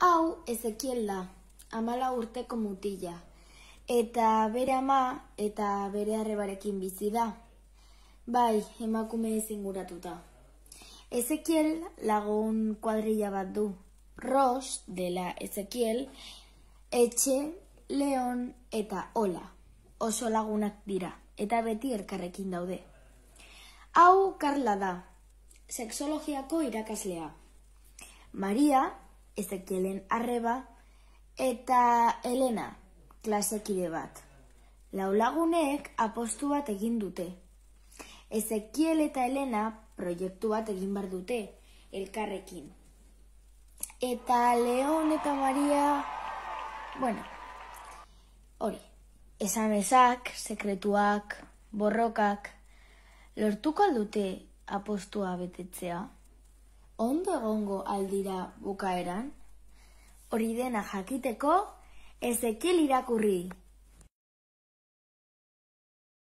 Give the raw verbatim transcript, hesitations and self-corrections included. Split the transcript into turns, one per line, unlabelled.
Hau Ezekiel da, hamala urteko mutila, eta bere ama eta bere arrebarekin bizi da. Bai, emakume inguratuta. Ezekiel lagun kuadrilla bat du. Ros dela Ezekiel, Etxe, Leon eta Ola. Oso lagunak dira, eta beti elkarrekin daude. Hau Karla da, sexologiako irakaslea. Maria, Ezekielen arreba, eta Elena, klasekide bat. Lau lagunek apostu bat egin dute. Ezekiel eta Elena proiektu bat egin bar dute, elkarrekin. Eta Leon eta Maria, bueno, hori, esamesak, sekretuak, borrokak, lortuko aldute apostua betetzea? Ondo egongo aldira bukaeran? Hori dena jakiteko, Ezekiel irakurri.